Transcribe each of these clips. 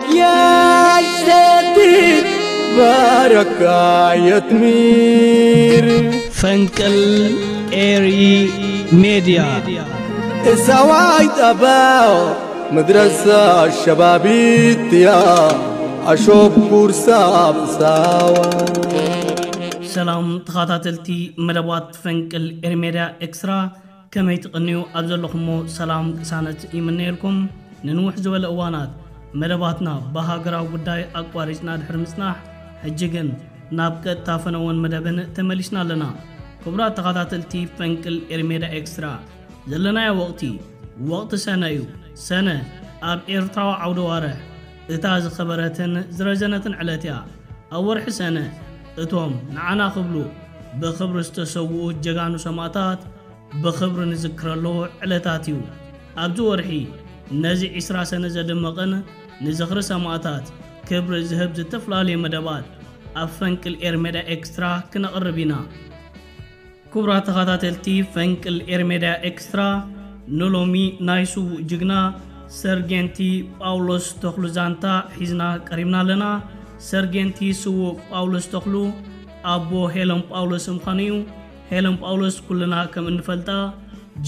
يا السديد بارك يا تمير. ፈንቅል ኤሪ ሜድያ። السواي تباو مدرسة شبابيتيا أشوف كورسا بساوا. ሰላም ተኸታተልቲ መደባት ፈንቅል ኤሪ ሜድያ ኤክስትራ፣ ከመይ ትቕንዩ? ኣብ ዘለኹሞ ሰላም ቅሳነት ይምነየልኩም። ንንውሕ ዝበለ እዋናት መደባትና ብሃገራዊ ጉዳይ ኣቋሪጽና ድሕሪ ምጽናሕ፣ ሕጂ ግን ናብ ቀጥታ ፈነወን መደብን ተመሊስና ኣለና። ክቡራት ተኸታተልቲ ፈንቅል ኤሪ ሜድያ ኤክስትራ፣ ዘለናዮ ወቕቲ፣ ወቕቲ ሰነ እዩ። ሰነ ኣብ ኤርትራዊ ዓውደ ዋርሕ እታ ዝኸበረትን ዝረዘነትን ዕለት እያ። ኣብ ወርሒ ሰነ እቶም ንዓና ክብሉ ብኽብሪ ዝተሰውኡ ጀጋኑ ሰማእታት ብኽብሪ ንዝክረሉ ዕለታት እዩ። ኣብዚ ወርሒ ነዚ ዕስራ ሰነ ዘድምቕን ንዝኽሪ ሰማእታት ክብሪ ዝህብ ዝተፈላለዩ መደባት ኣብ ፈንቅል ኤሪ ሜድያ ኤክስትራ ክነቕርብ ኢና። ክቡራት ተኸታተልቲ ፈንቅል ኤሪ ሜድያ ኤክስትራ፣ ንሎሚ ናይ ስዉእ ጅግና ሰርጌንቲ ጳውሎስ ተኽሉ ዛንታ ሒዝና ቀሪብና ኣለና። ሰርጌንቲ ስዉእ ጳውሎስ ተኽሉ ኣቦ ሄለን ጳውሎስ ምዃኑ እዩ። ሄለን ጳውሎስ ኩልና ከም እንፈልጣ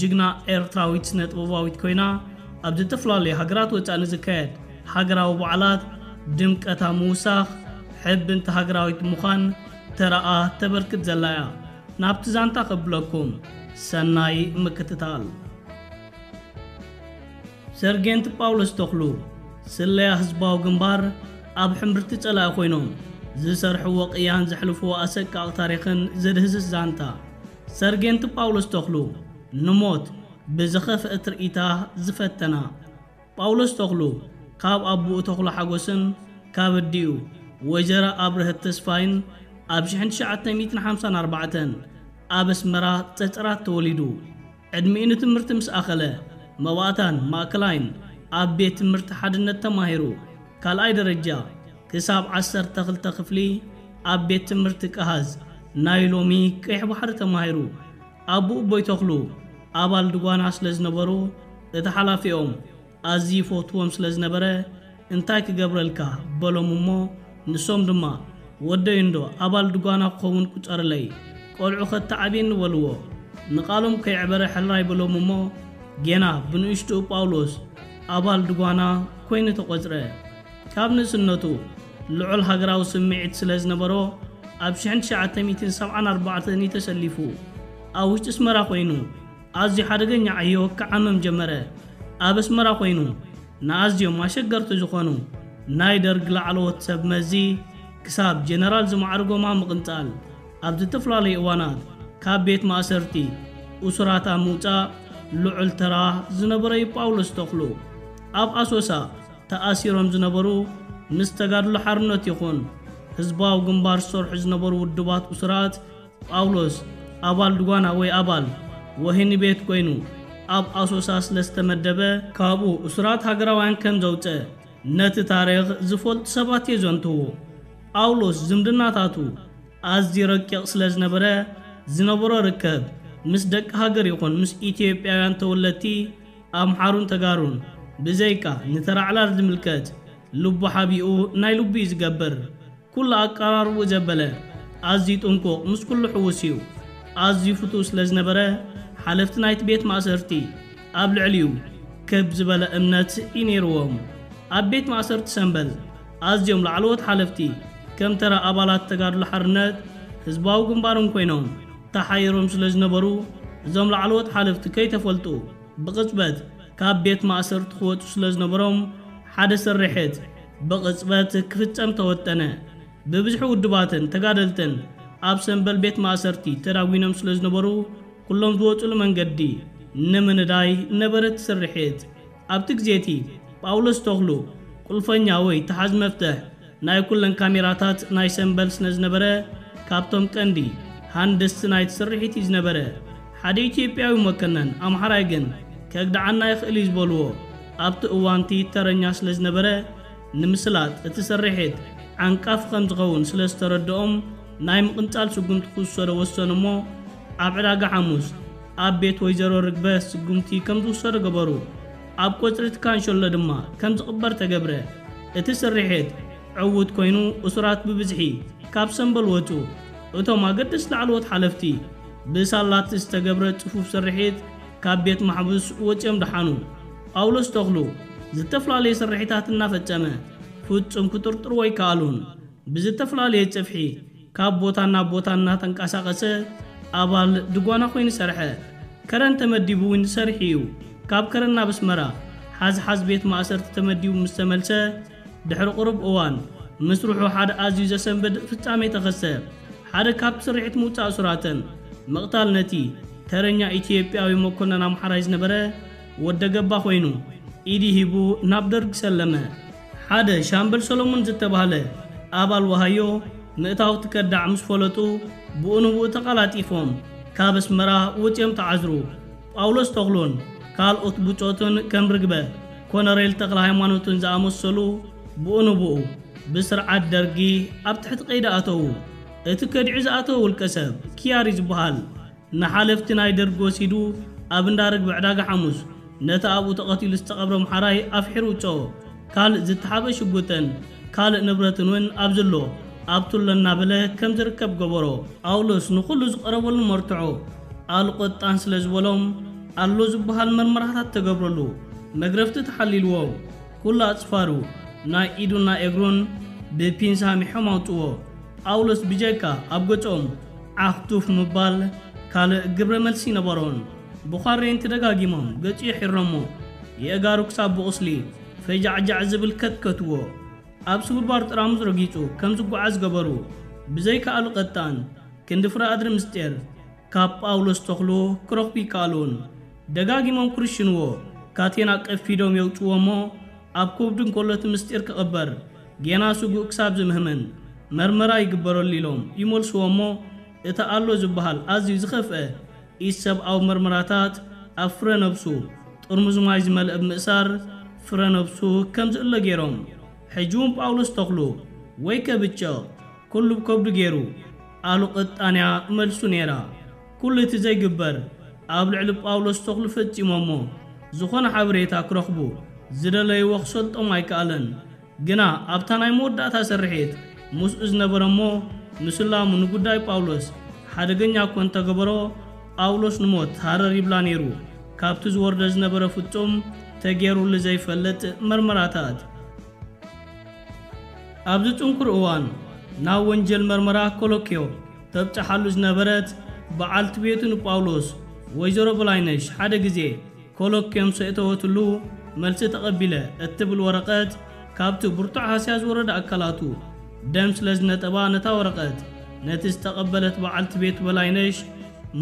ጅግና ኤርትራዊት ስነ ጥበባዊት ኮይና፣ ኣብ ዝተፈላለዩ ሃገራት ወጻኢ ንዝካየድ ሃገራዊ በዓላት ድምቀታ ምውሳኽ፣ ሕብንቲ ሃገራዊት ምዃን ተራኣ ተበርክት ዘላ እያ። ናብቲ ዛንታ ከብለኩም፣ ሰናይ ምክትታል። ሰርጌንት ጳውሎስ ተኽሉ፣ ስለያ ህዝባዊ ግንባር ኣብ ሕምብርቲ ጸላኢ ኮይኖም ዝሰርሕዎ ቅያን ዘሕልፍዎ ኣሰቃቂ ታሪኽን ዘድህስስ ዛንታ። ሰርጌንት ጳውሎስ ተኽሉ፣ ንሞት ብዝኸፍአ ትርኢታ ዝፈተና። ጳውሎስ ተኽሉ፣ ካብ ኣቦኡ ተኽሉ ሓጎስን ካብ ኣዲኡ ወይዘሮ ኣብርሀት ተስፋይን ኣብ ሽሕን ትሽዓተ ሚእትን ሓምሳን ኣርባዕተን ኣብ ኣስመራ ጸጸራት ተወሊዱ። ዕድሚኡ ንትምህርቲ ምስ ኣኸለ፣ መባእታን ማእከላይን ኣብ ቤት ትምህርቲ ሓድነት ተማሂሩ። ካልኣይ ደረጃ ክሳብ ዓሰርተ ክልተ ክፍሊ ኣብ ቤት ትምህርቲ ቀሃዝ፣ ናይ ሎሚ ቀይሕ ባሕሪ፣ ተማሂሩ። ኣቦኡ ኣቦይ ተኽሉ ኣባል ድጓና ስለ ዝነበሩ፣ እቲ ሓላፊኦም ኣዝዩ ይፈትዎም ስለ ዝነበረ፣ "እንታይ ክገብረልካ?" በሎም እሞ፣ ንሶም ድማ፣ "ወደይ እንዶ ኣባል ድጓና ክኸውን ቁጸርለይ፣ ቆልዑ ከተዓብየኒ" በልዎ። ንቓሎም ከየዕበረ ሕራይ በሎም እሞ፣ ጌና ብንእሽትኡ ጳውሎስ ኣባል ድጓና ኮይኑ ተቖጽረ። ካብ ንእስነቱ ልዑል ሃገራዊ ስምዒት ስለ ዝነበሮ፣ ኣብ ሽሕን ትሽዓተ ሚእትን ሰብዓን ኣርባዕተን እዩ ተሰሊፉ። ኣብ ውሽጢ ኣስመራ ኮይኑ ኣዝዩ ሓደገኛ ዕዮ ክዓምም ጀመረ። ኣብ ኣስመራ ኮይኑ ንኣዝዮም ኣሸገርቲ ዝኾኑ ናይ ደርግ ላዕለዎት ሰብ መዚ ክሳብ ጀነራል ዝማዕርጎም ኣብ ምቕንጻል፣ ኣብ ዝተፈላለዩ እዋናት ካብ ቤት ማእሰርቲ እሱራት ኣብ ምውጻእ ልዑል ተራ ዝነበሮ እዩ ጳውሎስ ተኽሉ። ኣብ ኣሶሳ ተኣሲሮም ዝነበሩ፣ ምስ ተጋድሎ ሓርነት ይኹን ህዝባዊ ግንባር ዝሰርሑ ዝነበሩ ውድባት እሱራት፣ ጳውሎስ ኣባል ድጓና ወይ ኣባል ወህኒ ቤት ኮይኑ ኣብ ኣሶሳ ስለ ዝተመደበ፣ ካብኡ እሱራት ሃገራውያን ከም ዘውጸ ነቲ ታሪኽ ዝፈልጡ ሰባት የዘንትዉ። ጳውሎስ ዝምድናታቱ ኣዝዩ ረቂቕ ስለ ዝነበረ፣ ዝነበሮ ርከብ ምስ ደቂ ሃገር ይኹን ምስ ኢትዮጵያውያን ተወለድቲ ኣምሓሩን ተጋሩን ብዘይካ ንተራ ዕላል ዝምልከት፣ ልቡ ሓቢኡ ናይ ልቡ እዩ ዝገብር። ኩሉ ኣቀራርብኡ ዘበለ፣ ኣዝዩ ጥንቁቕ፣ ምስ ኩሉ ሕዉስ እዩ። ኣዝዩ ፍቱው ስለ ዝነበረ፣ ሓለፍቲ ናይቲ ቤት ማእሰርቲ ኣብ ልዕሊኡ ክብ ዝበለ እምነት እዩ ነይርዎም። ኣብ ቤት ማእሰርቲ ሰምበል ኣዝዮም ላዕለዎት ሓለፍቲ፣ ከም ተራ ኣባላት ተጋድሎ ሓርነት ህዝባዊ ግንባርን ኮይኖም ተሓይሮም ስለ ዝነበሩ፣ እዞም ላዕለዎት ሓለፍቲ ከይተፈልጡ ብቕጽበት ካብ ቤት ማእሰርቲ ክወጹ ስለ ዝነበሮም፣ ሓደ ስርሒት ብቕጽበት ክፍጸም ተወጠነ። ብብዝሒ ውድባትን ተጋደልትን ኣብ ሰምበል ቤት ማእሰርቲ ተዳጒኖም ስለ ዝነበሩ፣ ኩሎም ዝወጹሉ መንገዲ ንምንዳይ ነበረ እቲ ስርሒት። ኣብቲ ግዜ እቲ ጳውሎስ ተኽሉ ቁልፈኛ ወይ ተሓዝ መፍትሕ ናይ ኩለን ካሜራታት ናይ ሰምበል ስለ ዝነበረ፣ ካብቶም ቀንዲ ሃንደስቲ ናይቲ ስርሒት እዩ ዝነበረ። ሓደ ኢትዮጵያዊ መኮነን ኣምሓራይ ግን ከግድዓና ይኽእል እዩ ዝበልዎ ኣብቲ እዋንቲ ተረኛ ስለ ዝነበረ፣ ንምስላጥ እቲ ስርሒት ዓንቃፊ ከም ዝኸውን ስለ ዝተረድኦም፣ ናይ ምቕንጻል ስጉምቲ ክውሰዶ ወሰኑ እሞ፣ ኣብ ዕዳጋ ሓሙስ ኣብ ቤት ወይዘሮ ርግበ ስጉምቲ ከም ዝውሰዶ ገበሩ። ኣብ ቆጽሪ እቲ ካንሸሎ ድማ ከም ዝቕበር ተገብረ። እቲ ስርሒት ዕዉት ኮይኑ፣ እሱራት ብብዝሒ ካብ ሰምበል ወጹ። እቶም ኣገደስቲ ላዕለዎት ሓለፍቲ፣ ብሳላቲ ዝተገብረ ጽፉፍ ስርሒት ካብ ቤት ማሕቡስ ወጺኦም ደሓኑ። ጳውሎስ ተኽሉ ዝተፈላለየ ስርሒታት እናፈጸመ፣ ፍጹም ክጥርጥርዎ ኣይከኣሉን። ብዝተፈላለየ ጽፍሒ ካብ ቦታ ናብ ቦታ እናተንቀሳቐሰ ኣባል ድጓና ኮይኑ ሰርሐ። ከረን ተመዲቡ እውን ሰርሑ እዩ። ካብ ከረን ናብ ኣስመራ ሓዝሓዝ ቤት ማእሰርቲ ተመዲቡ ምስ ተመልሰ፣ ድሕሪ ቁሩብ እዋን፣ ምስርሑ ሓደ ኣዝዩ ዘሰንብድ ፍጻሜ ተኸስተ። ሓደ ካብ ስርሒት ምውጻእ እሱራትን ምቕታል ነቲ ተረኛ ኢትዮጵያዊ መኮነን ኣምሓራይ ዝነበረ ወደ ገባ ኮይኑ፣ ኢዱ ሂቡ ናብ ደርግ ሰለመ። ሓደ ሻምበል ሰሎሞን ዝተባህለ ኣባል ወሃዮ ምእታው ትከዳዕ ምስ ፈለጡ፣ ብኡ ንብኡ ተቐላጢፎም ካብ ኣስመራ ወጺኦም ተዓዝሩ። ጳውሎስ ተኽሉን ካልኦት ብጾቱን ከም ርግበ ኮነሬል ተኽለ ሃይማኖትን ዝኣመሰሉ ብኡ ንብኡ ብስርዓት ደርጊ ኣብ ትሕቲ ቀይዲ ኣተዉ። እቲ ከዲዑ ዝኣተወ ውልቀ ሰብ ኪያሪ ዝበሃል ንሓለፍቲ ናይ ደርጊ ወሲዱ ኣብ እንዳ ርግቢ ዕዳጋ ሓሙስ ነቲ ኣብኡ ተቐቲሉ ዝተቐብረ ኣምሓራይ ኣፍሒሩ ውጽኦ። ካልእ ዝተሓበ ሽጉጥን ካልእ ንብረትን እውን ኣብዚ ኣሎ፣ ኣብቱ ኣሎ እናበለ ከም ዝርከብ ገበሮ። ጳውሎስ ንኹሉ ዝቐረበሉ መርትዖ ኣልቆጣን ስለ ዝበሎም ኣሎ ዝበሃል መርመራታት ተገብረሉ። መግረፍቲ ተሓሊልዎ። ኩሉ ኣጽፋሩ ናይ ኢዱን ናይ እግሩን ብፒንሳ ሚሖም ኣውጽዎ። ጳውሎስ ብጀካ ኣብ ገጾም ዓኽቱፍ ምባል ካልእ ግብረ መልሲ ነበሮን። ብዃሬንቲ ደጋጊሞም ገጹ የሒሮሞ። የእጋሩ ክሳብ ብቑስሊ ፈጃዕጃዕ ዝብል ከትከትዎ። ኣብ ስብርባር ጥራሙዝ ረጊጹ ከም ዝጓዓዝ ገበሩ። ብዘይካ ኣልቐጣን ክንዲ ፍረ ኣድሪ ምስጢር ካብ ጳውሎስ ተኽሉ ክረኽቡ ይከኣሉን። ደጋጊሞም ክርሽንዎ ካቴና ቀፊዶም የውጽዎ እሞ ኣብ ከብዱ እንከሎ እቲ ምስጢር ክቕበር ጌና ስጉእ ክሳብ ዝምህምን መርመራ ይግበረሉ ኢሎም ይመልስዎ እሞ እቲ ኣሎ ዝበሃል ኣዝዩ ዝኸፍአ ኢሰብኣዊ መርመራታት ኣብ ፍረ ነብሱ ጥርሙዝ ማይ ዝመልአ ብምእሳር ፍረ ነብሱ ከም ዝእሎ ገይሮም። ሕጂ እውን ጳውሎስ ተኽሉ ወይ ከብጨቕ ኩሉ ብከብዱ ገይሩ ኣሉ ቅጣንያ መልሱ ነይራ። ኩሉ እቲ ዘይግበር ኣብ ልዕሊ ጳውሎስ ተኽሉ ፈጺሞሞ ዝኾነ ሓበሬታ ክረኽቡ ዝደለይዎ ክሰልጦም ኣይከኣለን። ግና ኣብታ ናይ መወዳእታ ስርሒት ምስኡ ዝነበረ እሞ ምስላሙ ንጉዳይ ጳውሎስ ሓደገኛ እኮ እንተገበሮ ጳውሎስ ንሞት ሃረር ይብላ ነይሩ። ካብቲ ዝወርደ ዝነበረ ፍጹም ተገይሩሉ ዘይፈልጥ መርመራታት። ኣብዚ ጽንኩር እዋን ናብ ወንጀል መርመራ ኮሎኪዮ ተብጽሓሉ ዝነበረት በዓልቲ ቤቱ ንጳውሎስ ወይዘሮ በላይነሽ ሓደ ግዜ ኮሎኪዮ ምስ ኣእተወትሉ መልሲ ተቐቢለ እትብል ወረቐት ካብቲ ብርቱዕ ሃስያ ዝወረደ ኣካላቱ ደም ስለ ዝነጠባ ነታ ወረቐት ነቲ ዝተቐበለት በዓልቲ ቤቱ በላይነሽ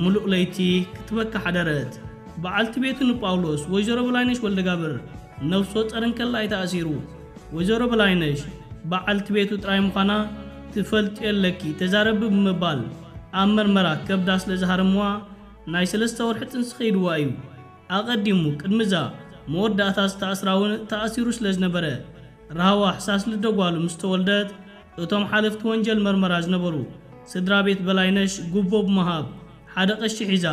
ምሉእ ለይቲ ክትበካ ሓደረት። በዓልቲ ቤቱ ንጳውሎስ ወይዘሮ በላይነሽ ወልደጋብር ነፍሲ ወጸር እንከላ እዩ ተኣሲሩ። ወይዘሮ በላይነሽ በዓልቲ ቤቱ ጥራይ ምዃና ትፈልጢ ኣለኪ፣ ተዛረቢ ብምባል ኣብ መርመራ ከብዳ ስለ ዝሃረምዋ ናይ ሰለስተ ወርሒ ጥንሲ ከይድዋ እዩ። ኣቐዲሙ ቅድሚ እዛ መወዳእታ ዝተኣስራ እውን ተኣሲሩ ስለ ዝነበረ ራህዋ ሕሳስ ልደ ጓሉ ምስ ተወልደት እቶም ሓለፍቲ ወንጀል መርመራ ዝነበሩ ስድራ ቤት በላይነሽ ጉቦ ብምሃብ ሓደ ቀሺ ሒዛ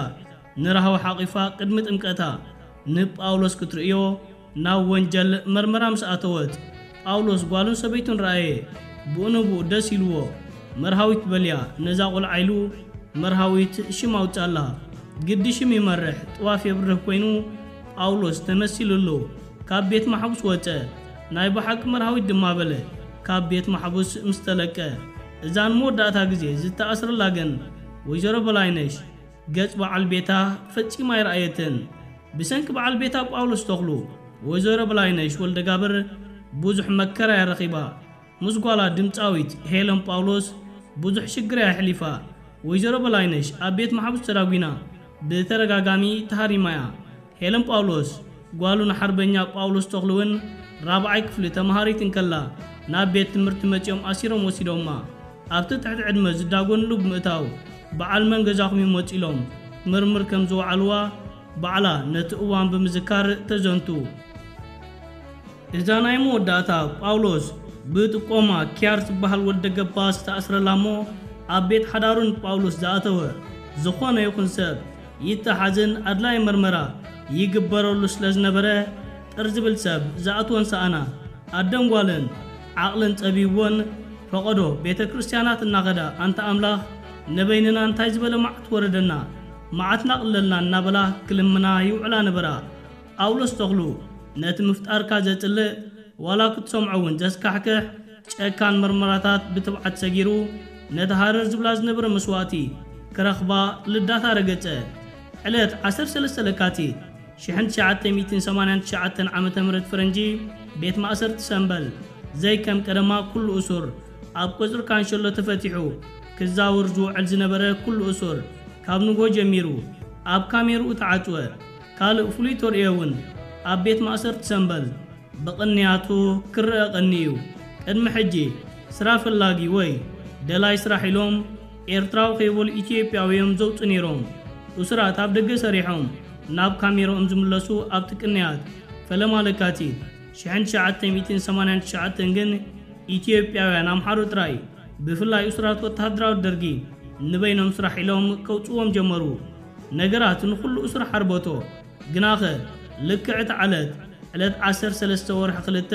ንራህዋ ሓቒፋ ቅድሚ ጥምቀታ ንጳውሎስ ክትርእዮ ናብ ወንጀል መርመራ ምስ ኣተወት፣ ጳውሎስ ጓሉን ሰበይቱን ረኣየ። ብኡ ንብኡ ደስ ኢልዎ፣ መርሃዊት በልያ ነዛ ቖልዓ ኢሉ መርሃዊት ሽም ኣውጻላ። ግዲ ሽም ይመርሕ ጥዋፍ የብርህ ኮይኑ ጳውሎስ ተመሲሉ ኣሎ። ካብ ቤት ማሕቡስ ወጸ። ናይ ብሓቂ መርሃዊት ድማ በለ ካብ ቤት ማሕቡስ ምስ ተለቀ። እዛ ንመወዳእታ ግዜ ዝተኣስረላ ግን ወይዘሮ በላይነሽ ገጽ በዓል ቤታ ፈጺማ ኣይረኣየትን። ብሰንኪ በዓል ቤታ ጳውሎስ ተኽሉ ወይዘሮ በላይነሽ ወልደጋብር ብዙሕ መከራ እያ ረኺባ። ምስ ጓላ ድምጻዊት ሄለን ጳውሎስ ብዙሕ ሽግር እያ ኣሕሊፋ። ወይዘሮ በላይነሽ ኣብ ቤት ማሕቡስ ተዳጒና ብተደጋጋሚ ተሃሪማ እያ። ሄለን ጳውሎስ ጓሉ ንሓርበኛ ጳውሎስ ተኽሉ እውን ራብዓይ ክፍሊ ተመሃሪት እንከላ ናብ ቤት ትምህርቲ መጺኦም ኣሲሮም ወሲዶማ። ኣብቲ ትሕቲ ዕድመ ዝዳጎንሉ ብምእታው በዓል መን ገዛኹም እዩ መጺ ኢሎም ምርምር ከም ዝወዓልዋ ባዕላ ነቲ እዋን ብምዝካር ተዘንቱ። እዛ ናይ መወዳእታ ጳውሎስ ብጥቆማ ኪያር ዝበሃል ወልደ ገባ ዝተኣስረላ እሞ ኣብ ቤት ሓዳሩ ንጳውሎስ ዝኣተወ ዝኾነ ይኹን ሰብ ይተሓዝን ኣድላይ መርመራ ይግበረሉ ስለ ዝነበረ ጥር ዝብል ሰብ ዝኣትወን ሰኣና። ኣደን ጓልን ዓቕለን ጸቢብወን ፈቐዶ ቤተ ክርስቲያናት እናኸዳ፣ ኣንታ ኣምላኽ፣ ንበይንና እንታይ ዝበለ መዓት ወረደና፣ መዓትና ኣቕልለልና እናበላ ክልምና ይውዕላ ነበራ። ጳውሎስ ተኽሉ ነቲ ምፍጣርካ ዘጽልእ፣ ዋላ ክትሰምዖ እውን ዘስካሕክሕ ጨካን መርመራታት ብትብዓት ሰጊሩ፣ ነቲ ሃረር ዝብላ ዝነበረ መስዋእቲ ክረኽባ ልዳታ ረገጸ። ዕለት ዓሰርተ ሰለስተ ለካቲት ሽሕን ትሽዓተ ሚእትን ሰማንያን ትሽዓተን ዓመተ ምህረት ፈረንጂ፣ ቤት ማእሰርቲ ሰምበል ዘይከም ቀደማ ኩሉ እሱር ኣብ ቆጽሪ ካንሸሎ ተፈቲሑ። ክዛወር ዝውዕል ዝነበረ ኩሉ እሱር ካብ ንጎ ጀሚሩ ኣብ ካሜርኡ ተዓጽወ። ካልእ ፍሉይ ተርእዮ እውን ኣብ ቤት ማእሰርቲ ሰምበል ብቕንያቱ ክረአ ቀኒ እዩ። ቅድሚ ሕጂ ስራ ፈላጊ ወይ ደላይ ስራሕ ኢሎም ኤርትራዊ ከይበሉ ኢትዮጵያዊ እዮም ዘውጹ ነይሮም። እሱራት ኣብ ደገ ሰሪሖም ናብ ካሜርኦም ዝምለሱ ኣብቲ ቅንያት ፈለማ ለካቲት ሽሕን ትሽዓተ ሚእትን ሰማንያን ትሽዓተን ግን ኢትዮጵያውያን ኣምሓሩ ጥራይ፣ ብፍላይ እሱራት ወተሃደራዊ ደርጊ፣ ንበይኖም ስራሕ ኢሎም ከውጽዎም ጀመሩ። ነገራት ንኹሉ እሱር ሓርበቶ። ግናኸ ልክዕ እታ ዕለት፣ ዕለት ዓሰርተ ሰለስተ ወርሒ ክልተ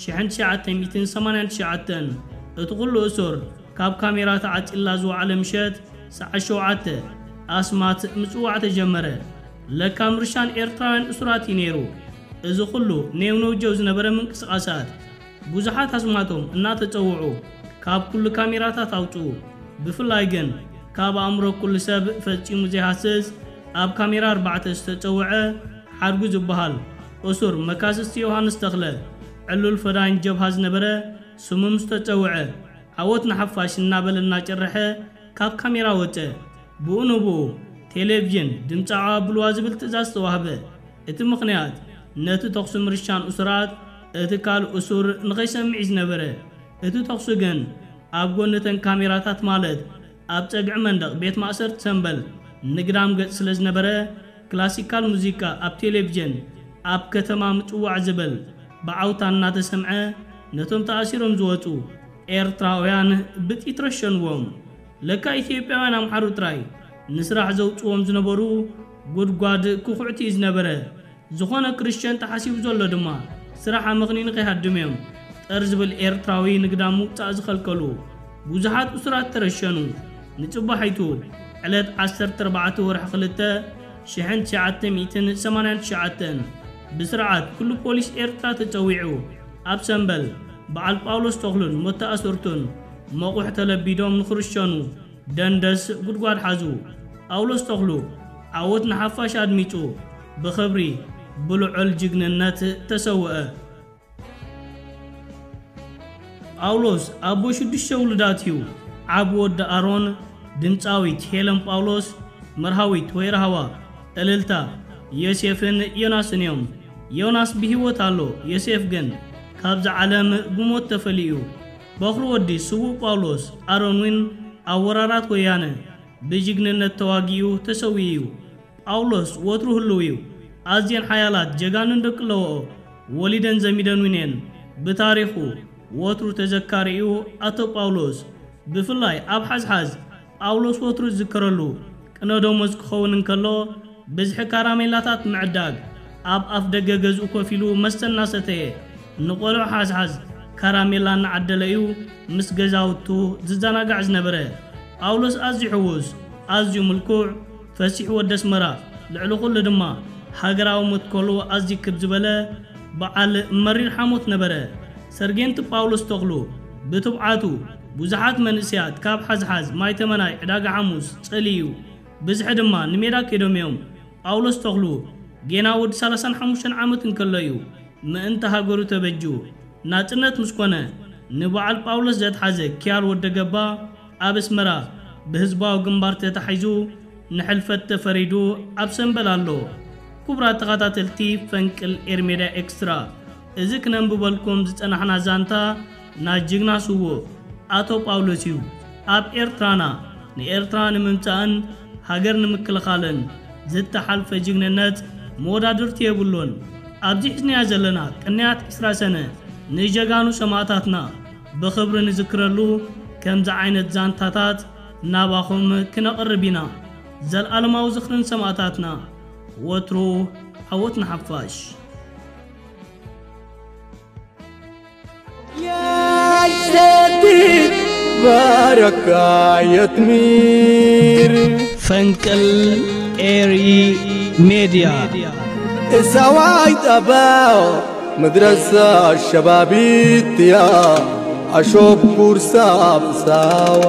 ሽሕን ትሽዓተ ሚእትን ሰማንያን ትሽዓተን፣ እቲ ኩሉ እሱር ካብ ካሜራ ተዓጺላ ዝወዓለ ምሸት ሰዓት ሸውዓተ ኣስማት ምጽዋዕ ተጀመረ። ለካ ምርሻን ኤርትራውያን እሱራት እዩ ነይሩ። እዚ ኩሉ ኔውነውጀው ዝነበረ ምንቅስቓሳት፣ ብዙሓት ኣስማቶም እናተጸውዑ ካብ ኩሉ ካሜራታት ኣውጽኡ። ብፍላይ ግን ካብ ኣእምሮ ኩሉ ሰብ ፈጺሙ ዘይሃስስ፣ ኣብ ካሜራ ኣርባዕተ ዝተጸውዐ ሓድጉ ዝበሃል እሱር መካስስቲ ዮሃንስ ተኽለ፣ ዕሉል ፈዳይን ጀብሃ ዝነበረ፣ ስሙ ምስ ተጸውዐ፣ ዓወት ንሓፋሽ እናበለ እናጨረሐ ካብ ካሜራ ወጸ። ብኡ ንብኡ ቴሌቪዥን ድምጻዊ ኣብልዋ ዝብል ትእዛዝ ተዋህበ። እቲ ምኽንያት፣ ነቲ ተኹሲ ምርሻን እሱራት እቲ ካልእ እሱር ንኸይሰምዕ እዩ ዝነበረ። እቲ ተኹሲ ግን ኣብ ጎኒ እተን ካሜራታት፣ ማለት ኣብ ጸግዒ መንደቕ ቤት ማእሰርቲ ሰምበል ንግዳም ገጽ ስለ ዝነበረ፣ ክላሲካል ሙዚቃ ኣብ ቴሌቪዥን ኣብ ከተማ ምጽዋዕ ዝብል ብዓውታ እናተሰምዐ፣ ነቶም ተኣሲሮም ዝወጹ ኤርትራውያን ብጥይት ረሸንዎም። ለካ ኢትዮጵያውያን ኣምሓሩ ጥራይ ንስራሕ ዘውጽዎም ዝነበሩ ጉድጓድ ክኹዕቲ እዩ ዝነበረ። ዝኾነ ክርስቲያን ተሓሲቡ ዘሎ ድማ ስራሕ ኣመኽኒኑ ከይሃድም እዮም ጠር ዝብል ኤርትራዊ ንግዳም ምውጻእ ዝኸልከሉ። ብዙሓት እሱራት ተረሸኑ። ንጽባሒቱ ዕለት ዓሰርተ ኣርባዕተ ወርሒ ክልተ ሽሕን ትሽዓተ ሚእትን ሰማንያን ትሽዓተን ብስርዓት ኩሉ ፖሊስ ኤርትራ ተጸዊዑ፣ ኣብ ሰምበል በዓል ጳውሎስ ተኽሉን መተኣሰርቱን መቑሕ ተለቢዶም ንኽርሸኑ ደንደስ ጉድጓድ ሓዙ። ጳውሎስ ተኽሉ ዓወት ንሓፋሽ ኣድሚጹ ብኽብሪ ብልዑል ጅግንነት ተሰውአ። ጳውሎስ ኣቦ ሽዱሽተ ውሉዳት እዩ። ዓቢ ወዲ ኣሮን፣ ድምጻዊት ሄለን ጳውሎስ፣ መርሃዊት ወይ ራህዋ፣ እልልታ፣ ዮሴፍን ዮናስን እዮም። ዮናስ ብህይወት ኣሎ፣ ዮሴፍ ግን ካብዛ ዓለም ብሞት ተፈልዩ። በኹሪ ወዲ ስዉእ ጳውሎስ ኣሮን እውን ኣብ ወራራት ወያነ ብጅግንነት ተዋጊኡ ተሰዊኡ እዩ። ጳውሎስ ወትሩ ህልው እዩ። ኣዝየን ሓያላት ጀጋኑን ደቂ ኣለዎኦ ወሊደን ዘሚደን እውን እየን። ብታሪኹ ወትሩ ተዘካሪ እዩ ኣቶ ጳውሎስ። ብፍላይ ኣብ ሓዝሓዝ ጳውሎስ ወትሩ ዝዝከረሉ ቅነ ደሞዝ ክኸውን እንከሎ፣ ብዝሒ ካራሜላታት ምዕዳግ፣ ኣብ ኣፍ ደገ ገዝኡ ኮፍ ኢሉ መስተ እናሰተየ፣ ንቆልዑ ሓዝሓዝ ካራሜላ እናዓደለ እዩ ምስ ገዛውቱ ዝዘናጋዕ ዝነበረ። ጳውሎስ ኣዝዩ ሕዉስ፣ ኣዝዩ ምልኩዕ፣ ፈሲሕ ወዲ ኣስመራ፣ ልዕሊ ኩሉ ድማ ሃገራዊ መትከሉ ኣዝዩ ክብ ዝበለ በዓል መሪር ሓሞት ነበረ። ሰርጌንቲ ጳውሎስ ተኽሉ ብትብዓቱ ብዙሓት መንእሰያት ካብ ሓዝሓዝ ማይ ተመናይ ዕዳጋ ሓሙስ ጸልዩ፣ ብዝሒ ድማ ንሜዳ ከይዶም እዮም። ጳውሎስ ተኽሉ ጌና ወዲ ሰላሳን ሓሙሽተን ዓመት እንከሎ እዩ ምእንቲ ሃገሩ ተበጁ። ናጽነት ምስ ኮነ፣ ንበዓል ጳውሎስ ዘትሓዘ ኪያር ወደ ገባ ኣብ ኣስመራ ብህዝባዊ ግንባር ተታሒዙ ንሕልፈት ተፈሪዱ ኣብ ሰምበል ኣሎ። ክቡራት ተኸታተልቲ ፈንቅል ኤርሜዳ ኤክስትራ፣ እዚ ክነንብበልኩም ዝጸናሕና ዛንታ ናይ ጅግና ስዉእ ኣቶ ጳውሎስ እዩ። ኣብ ኤርትራና ንኤርትራ ንምምጻእን ሃገር ንምክልኻልን ዝተሓልፈ ጅግንነት መወዳድርቲ የብሉን። ኣብዚ ሒዝናዮ ዘለና ቅንያት ዕስራ ሰነ ንጀጋኑ ሰማእታትና ብኽብሪ ንዝክረሉ ከምዚ ዓይነት ዛንታታት ናባኹም ክነቕርብ ኢና። ዘልኣለማዊ ዝኽርን ሰማእታትና ወትሩ ዓወት ንሓፋሽ። ባረካ የትሚር ፈንቅል ኤሪ ሜድያ እሳዋይ ጠባው መድረሳ ሸባቢትያ ኣሾብ ኩርሳ ብሳዋ